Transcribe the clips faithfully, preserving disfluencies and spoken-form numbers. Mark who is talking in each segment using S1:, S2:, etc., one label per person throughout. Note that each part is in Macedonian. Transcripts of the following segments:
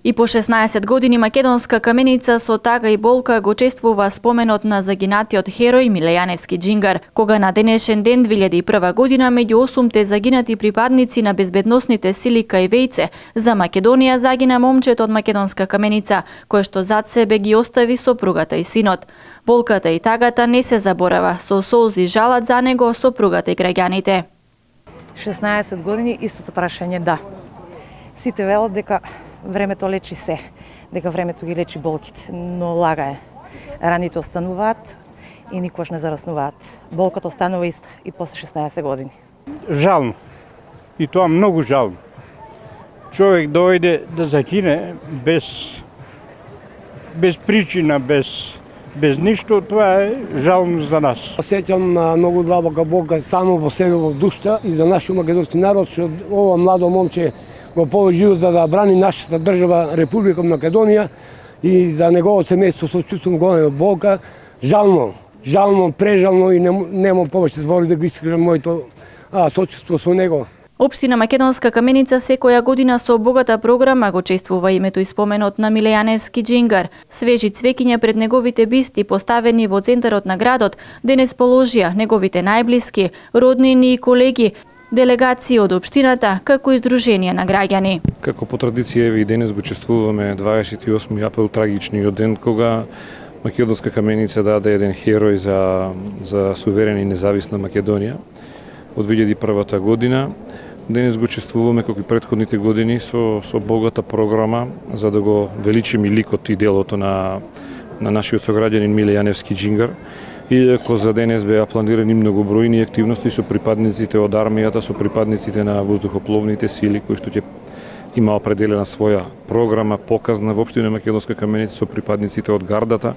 S1: И по шеснаесет години македонска каменица со тага и болка го чествува споменот на загинатиот херој Миле Јаневски Џингар, кога на денешен ден две илјади и прва година меѓу осумте загинати припадници на безбедносните сили кај Вејце за Македонија загина момчето од македонска каменица, кој што зад себе ги остави сопругата и синот. Болката и тагата не се заборава, со солзи жалат за него сопругата и граѓаните.
S2: шеснаесет години истото прашање да. Сите велат дека времето лечи се, дека времето ги лечи болките, но лага е. Раните остануваат и никош не зараснуваат. Болката останува иста и после шеснаесет години.
S3: Жално. И тоа многу жално. Човек дојде да загине без без причина, без без ништо, тоа е жално за нас.
S4: Осеќам многу длабока болка само во себе во душта и за нашиот македонски народ, што ова младо момче го положи живот за да брани нашата држава Република Македонија и за неговото семејство со чувствувам голема болка. Жално, жално, прежално и немам повеќе збори да го искажам моето сочувство со него.
S1: Општина Македонска каменица секоја година со богата програма го чествува името и споменот на Миле Јаневски Џингар. Свежи цвеќиња пред неговите бисти поставени во центарот на градот денес положија неговите најблиски, роднини и колеги, делегации од општината, како и здруженија на граѓани.
S5: Како по традиција еве и денес го чествуваме дваесет и осми април, трагичниот ден кога Македонска каменица даде еден херој за за суверена и независна Македонија од две илјади и прва година. Денес го чествуваме како и претходните години со со богата програма за да го величиме ликот и делото на на нашиот сограѓанин Миле Јаневски Џингар. Иако за денес беа планирани многобројни активности со припадниците од армијата, со припадниците на воздухопловните сили кои што ќе има определена своја програма показна во општина Македонска каменица со припадниците од гардата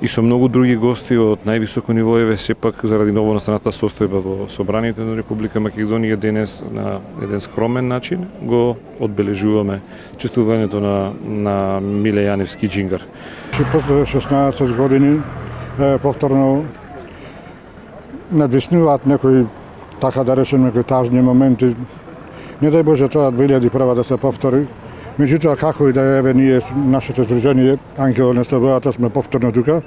S5: и со многу други гости од највисоко ниво, еве сепак заради новонастаната состојба во собранието на Република Македонија денес на еден скромен начин го одбележуваме чествувањето на на Миле Јаневски Џингар.
S3: После шеснаесет години повторно надвиснуваат некои, така да речем, некои тажни моменти. Не дај Боже тоа две илјади и прва да се повтори. Меѓутоа, како и да еве ние, нашето здружение Ангел на Слободата, сме повторно тука,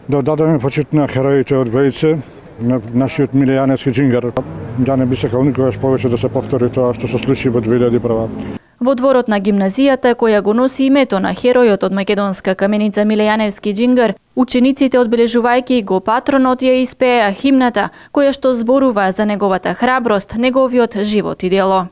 S3: да дадеме почит на хероите од Вејце, на нашиот Миле Јаневски Џингар. Да не би сакал никогаш повеќе да се повтори тоа што се случи во две илјади и прва.
S1: Во дворот на гимназијата, која го носи името на херојот од македонска каменица Миле Јаневски Џингар, учениците одбележувајќи го патронот ја испеа химната, која што зборува за неговата храброст, неговиот живот и дело.